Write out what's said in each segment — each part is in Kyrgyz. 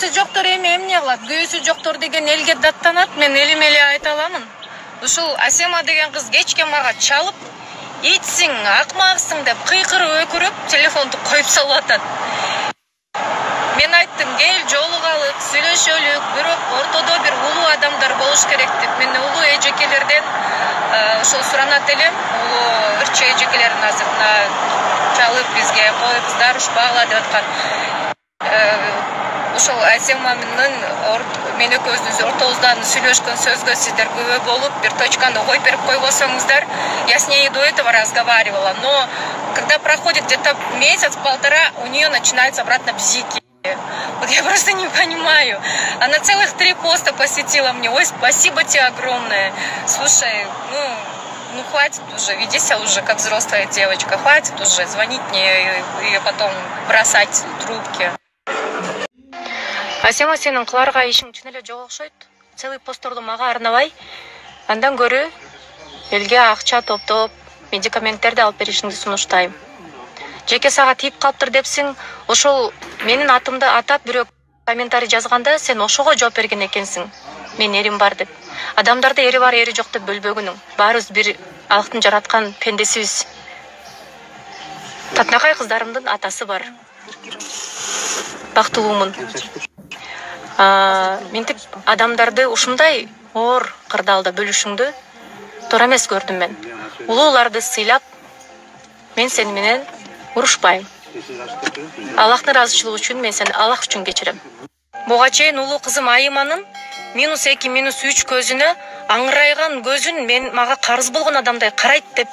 күйөөсү жоктор эми эмне кылат? Күйөөсү жоктор деген элге даттанат. Мен элим эле айта аламын. Ушул Асема деген кыз кечке мага чалып, итсиң, акмаксың деп кыйкырып өкүрүп, телефонду коюп салып атат. Мен айттым, кел жолугалы, сүйлөшөлүк, бирок ортодо бир улуу адамдар болуш керек деп. Мен улуу эжекелерден ошол суранат элем. Улуу ырчы эжекелердин азырына чалып бизге кой кыздар ушпагыла деп аткан. Ошол Асеманын мен экөөбүздүн ортобуздан сүйлөшкөн сөзгө сиздер күбө болуп, бир точканы коюп берип койбосоңуздар, я с ней до этого разговаривала, но когда проходит где-то месяц-полтора, у нее начинаются обратно бзики. Вот я просто не понимаю. Она целых 3 поста посвятила мне. Ой, спасибо тебе огромное. Слушай, ну хватит уже, веди себя уже как взрослая девочка. Хватит уже звонить мне и потом бросать трубки. Асема, сенин кыларга ишиң чын эле жок окшойт. Целый постторду мага арнабай, андан көрү элге акча топтоп, медикаменттерди алып беришиңди сунуштайм. Жеке сага тийип калыптыр депсиң, ошол менин атымды атап бирөө комментарий жазганда сен ошого жооп берген экенсиң. Мен эрим бар деп. Адамдарды эри бар, эри жок деп бөлбөгүнүң. Баарыбыз бир Аллахтын жараткан пендесибиз. Татнакай кыздарымдын атасы бар. Бактылуумун. Ментип адамдарды ушундай оор кырдаалда бөлүшүңдү туура эмес көрдүм мен. Улууларды сыйлап, мен сени менен урушпайм. Аллахтын ыраазычылыгы үчүн мен сени Аллах үчүн кечирем. Буга чейин улуу кызым Айыманын -2, -3 көзүнө аңырайган көзүн мага карыз болгон адамдай карайт деп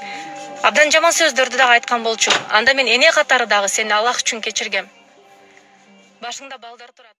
абдан жаман сөздөрдү дагы айткан болчу. Анда мен эне катары дагы сени Аллах үчүн кечиргем. Башыңда балдар турат.